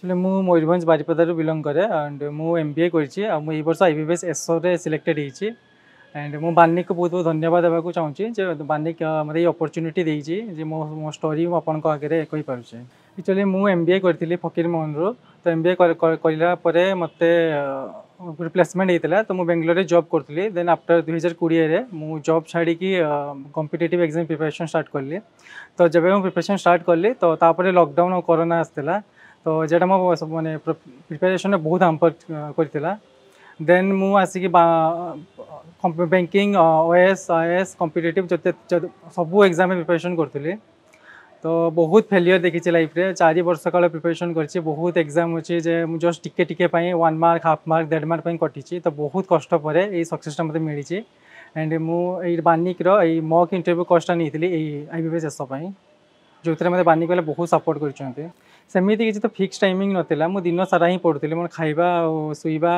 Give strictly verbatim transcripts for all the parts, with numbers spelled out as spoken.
actually ମୁଁ ମୟୂରଭଞ୍ଜ ବାରିପଦାରୁ ବିଲଙ୍ଗ କରେ and ମୁଁ ଏମ୍ ବି ଏ କରିଛି ଆଉ ମୁଁ ଏଇ ବର୍ଷ I B P S ଏସ୍ଓରେ ସିଲେକ୍ଟେଡ଼ ହେଇଛି ଆଣ୍ଡ ମୁଁ ବାନିକକୁ ବହୁତ ବହୁତ ଧନ୍ୟବାଦ ଦେବାକୁ ଚାହୁଁଛି ଯେ ବାନିକ ମୋତେ ଏଇ ଅପରଚ୍ୟୁନିଟି ଦେଇଛି ଯେ ମୋ ମୋ ଷ୍ଟୋରି ମୁଁ ଆପଣଙ୍କ ଆଗରେ କହିପାରୁଛି ଆକ୍ଚୁଆଲି ମୁଁ ଏମ୍ ବି ଏ କରିଥିଲି ଫକୀରମୋହନରୁ ତ ଏମ୍ ବି ଏ କରିଲା ପରେ ମୋତେ ଗୋଟେ ପ୍ଲେସମେଣ୍ଟ ହେଇଥିଲା ତ ମୁଁ ବେଙ୍ଗଲୋରରେ ଜବ୍ କରୁଥିଲି ଦେନ୍ ଆଫ୍ଟର ଦୁଇହଜାର କୋଡ଼ିଏରେ ମୁଁ ଜବ୍ ଛାଡ଼ିକି କମ୍ପିଟେଟିଭ୍ ଏକ୍ଜାମ୍ ପ୍ରିପାରେସନ୍ ଷ୍ଟାର୍ଟ କଲି ତ ଯେବେ ମୁଁ ପ୍ରିପାରେସନ୍ ଷ୍ଟାର୍ଟ କଲି ତ ତାପରେ ଲକଡାଉନ୍ ଆଉ କରୋନା ଆସିଥିଲା ତ ଯେଟା ମୋ ମାନେ ପ୍ରିପାରେସନ୍ରେ ବହୁତ ହାମ୍ପର କରିଥିଲା ଦେନ୍ ମୁଁ ଆସିକି banking O A S I A S competitive ଯେତେ ସବୁ ଏକ୍ଜାମ୍ରେ ପ୍ରିପାରେସନ୍ କରୁଥିଲି ତ ବହୁତ ଫେଲିୟର ଦେଖିଛି ଲାଇଫ୍ରେ ଚାରି ବର୍ଷ କାଳ ପ୍ରିପାରେସନ୍ କରିଛି ବହୁତ ଏକ୍ଜାମ୍ ଅଛି ଯେ ମୁଁ ଜଷ୍ଟ ଟିକେ ଟିକେ ପାଇଁ ୱାନ୍ ମାର୍କ ହାଫ୍ ମାର୍କ ଦେଢ଼ ମାର୍କ ପାଇଁ କଟିଛି ତ ବହୁତ କଷ୍ଟ ପରେ ଏଇ ସକ୍ସେସଟା ମୋତେ ମିଳିଛି ଆଣ୍ଡ ମୁଁ ଏଇ ବାନିକର ଏଇ ମକ୍ ଇଣ୍ଟରଭ୍ୟୁ କୋର୍ସଟା ନେଇଥିଲି ଏଇ I B P S S ପାଇଁ ଯେଉଁଥିରେ ମୋତେ ବାନିକ ବାଲା ବହୁତ ସପୋର୍ଟ କରିଛନ୍ତି ସେମିତି କିଛି ତ ଫିକ୍ସ ଟାଇମିଂ ନଥିଲା ମୁଁ ଦିନ ସାରା ହିଁ ପଢ଼ୁଥିଲି ମୋର ଖାଇବା ଆଉ ଶୋଇବା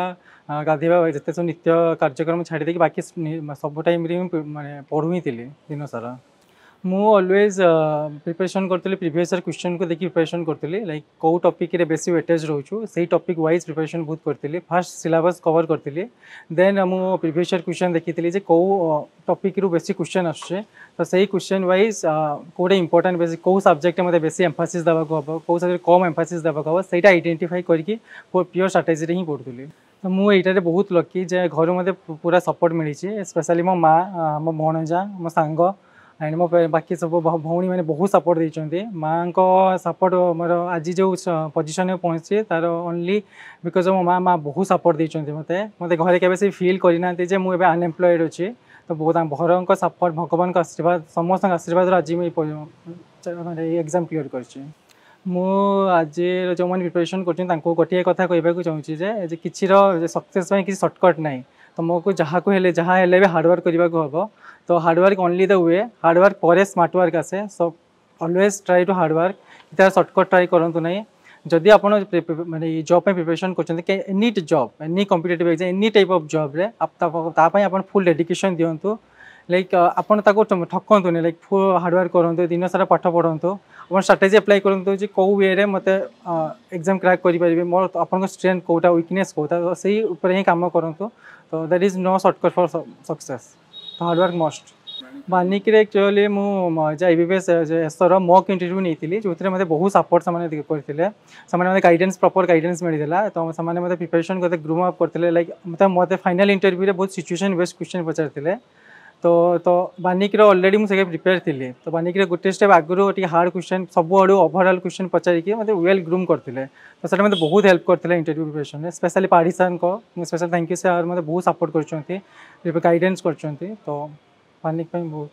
ଗାଧୋଇବା ଯେତେ ସବୁ ନିତ୍ୟ କାର୍ଯ୍ୟକ୍ରମ ଛାଡ଼ି ଦେଇକି ବାକି ସବୁ ଟାଇମ୍ରେ ମୁଁ ମାନେ ପଢ଼ୁ ହିଁ ଥିଲି ଦିନ ସାରା ମୁଁ ଅଲୱେଜ୍ ପ୍ରିପାରେସନ୍ କରୁଥିଲି ପ୍ରିଭିୟସ୍ ଇୟର୍ କ୍ୱେଶ୍ଚନ୍କୁ ଦେଖି ପ୍ରିପାରେସନ୍ କରୁଥିଲି ଲାଇକ୍ କେଉଁ ଟପିକ୍ରେ ବେଶୀ ୱେଟେଜ୍ ରହୁଛି ସେଇ ଟପିକ୍ ୱାଇଜ୍ ପ୍ରିପାରେସନ୍ ବହୁତ କରିଥିଲି ଫାର୍ଷ୍ଟ ସିଲାବସ୍ କଭର୍ କରିଥିଲି ଦେନ୍ ମୁଁ ପ୍ରିଭିୟସ୍ ଇୟର୍ କ୍ୱେଶ୍ଚନ୍ ଦେଖିଥିଲି ଯେ କେଉଁ ଟପିକ୍ରୁ ବେଶୀ କ୍ୱେଶ୍ଚନ୍ ଆସୁଛି ତ ସେଇ କ୍ୱେଶ୍ଚନ୍ ୱାଇଜ୍ କେଉଁଟା ଇମ୍ପୋର୍ଟାଣ୍ଟ ବେଶୀ କେଉଁ ସବଜେକ୍ଟରେ ମୋତେ ବେଶୀ ଏମ୍ଫାସିସ୍ ଦେବାକୁ ହେବ କେଉଁ ସବଜେକ୍ଟ କମ୍ ଏମ୍ଫାସିସ୍ ଦେବାକୁ ହେବ ସେଇଟା ଆଇଡେଣ୍ଟିଫାଇ କରିକି ପିଓର ଷ୍ଟ୍ରାଟେଜିରେ ହିଁ ପଢ଼ୁଥିଲି ତ ମୁଁ ଏଇଟାରେ ବହୁତ ଲକି ଯେ ଘରୁ ମୋତେ ପୁରା ସପୋର୍ଟ ମିଳିଛି ସ୍ପେଶାଲି ମୋ ମା ମୋ ଭଣଜା ମୋ ସାଙ୍ଗ ଆଣ୍ଡ ମୋ ବାକି ସବୁ ଭଉଣୀମାନେ ବହୁତ ସପୋର୍ଟ ଦେଇଛନ୍ତି ମାଆଙ୍କ ସପୋର୍ଟ ମୋର ଆଜି ଯେଉଁ ପୋଜିସନରେ ପହଞ୍ଚିଛି ତାର ଓନ୍ଲି because ମୋ ମା ମା ବହୁତ ସପୋର୍ଟ ଦେଇଛନ୍ତି ମୋତେ ମୋତେ ଘରେ କେବେ ସେ ଫିଲ୍ କରିନାହାନ୍ତି ଯେ ମୁଁ ଏବେ ଅନଏମ୍ପ୍ଲଏଡ଼ ଅଛି ତ ବହୁତ ଘରଙ୍କ ସପୋର୍ଟ ଭଗବାନଙ୍କ ଆଶୀର୍ବାଦ ସମସ୍ତଙ୍କ ଆଶୀର୍ବାଦରୁ ଆଜି ମୁଁ ଏଇ ଏଇ ଏକ୍ଜାମ୍ କ୍ଲିୟର୍ କରିଛି ମୁଁ ଆଜି ଯେଉଁମାନେ ପ୍ରିପାରେସନ୍ କରୁଛନ୍ତି ତାଙ୍କୁ ଗୋଟିଏ କଥା କହିବାକୁ ଚାହୁଁଛି ଯେ କିଛିର ସକ୍ସେସ୍ ପାଇଁ କିଛି ସର୍ଟକଟ୍ ନାହିଁ ତୁମକୁ ଯାହାକୁ ହେଲେ ଯାହା ହେଲେ ବି ହାର୍ଡ଼ୱାର୍କ କରିବାକୁ ହେବ ତ hard work only the way hard work ପରେ ସ୍ମାର୍ଟ ୱାର୍କ ଆସେ so always try to hard work ତାର ସର୍ଟକଟ୍ ଟ୍ରାଏ କରନ୍ତୁ ନାହିଁ ଯଦି ଆପଣ ମାନେ ଏଇ ଜବ୍ ପାଇଁ ପ୍ରିପାରେସନ୍ କରୁଛନ୍ତି any job any competitive exam any type of ଜବ୍ରେ ତା ପାଇଁ ଆପଣ ଫୁଲ୍ ଡେଡିକେସନ୍ ଦିଅନ୍ତୁ ଲାଇକ୍ ଆପଣ ତାକୁ ଠକନ୍ତୁନି ଲାଇକ୍ ଫୁଲ୍ ହାର୍ଡ଼ୱାର୍କ କରନ୍ତୁ ଦିନ ସାରା ପାଠ ପଢ଼ନ୍ତୁ ଆପଣ ଷ୍ଟ୍ରାଟେଜି ଆପ୍ଲାଏ କରନ୍ତୁ ଯେ କେଉଁ ୱେରେ ମୋତେ ଏକ୍ଜାମ୍ କ୍ରାକ୍ କରିପାରିବେ ମୋର ଆପଣଙ୍କ ଷ୍ଟ୍ରେନ୍ଥ କେଉଁଟା ୱିକନେସ୍ କେଉଁଟା ତ ସେଇ ଉପରେ ହିଁ କାମ କରନ୍ତୁ ତ there is no shortcut for success ତ ହାର୍ଡ଼ୱାର୍କ ମଷ୍ଟ ବାନିକରେ ଆକ୍ଚୁଆଲି ମୁଁ ଯେ I B P S ଏସ୍ଓର mock interview ନେଇଥିଲି ଯେଉଁଥିରେ ମୋତେ ବହୁତ ସପୋର୍ଟ ସେମାନେ କରିଥିଲେ ସେମାନେ ମୋତେ ଗାଇଡେନ୍ସ ପ୍ରପର୍ ଗାଇଡେନ୍ସ ମିଳିଥିଲା ତ ସେମାନେ ମୋତେ ପ୍ରିପାରେସନ୍ କରିତେ ଗ୍ରୁମ୍ ଅପ୍ କରିଥିଲେ ଲାଇକ୍ ମୋତେ ମୋତେ ଫାଇନାଲ୍ ଇଣ୍ଟରଭ୍ୟୁରେ ବହୁତ ସିଚୁଏସନ୍ ବେସ୍ଡ କ୍ୱେଶ୍ଚନ୍ ପଚାରିଥିଲେ ତ ତ ବାନିକର ଅଲରେଡ଼ି ମୁଁ ସେଟା ପ୍ରିପେୟାର ଥିଲି ତ ବାନିକରେ ଗୋଟେ ଷ୍ଟେପ୍ ଆଗରୁ ଟିକେ ହାର୍ଡ଼ କ୍ୱେଶ୍ଚନ୍ ସବୁଆଡ଼ୁ ଓଭରଅଲ୍ କ୍ୱେଶ୍ଚନ୍ ପଚାରିକି ମୋତେ ୱେଲ୍ ଗ୍ରୁମ୍ କରିଥିଲେ ତ ସେଟା ମୋତେ ବହୁତ ହେଲ୍ପ କରିଥିଲେ ଇଣ୍ଟରଭ୍ୟୁ ପ୍ରିପାରେସନ୍ରେ ସ୍ପେଶାଲି ପାଢ଼ୀ ସାର୍ଙ୍କ ମୁଁ ସ୍ପେଶାଲ୍ thank you sir ମୋତେ ବହୁତ ସପୋର୍ଟ କରିଛନ୍ତି ଗାଇଡେନ୍ସ କରିଛନ୍ତି ତ ବାନିକ ପାଇଁ ବହୁତ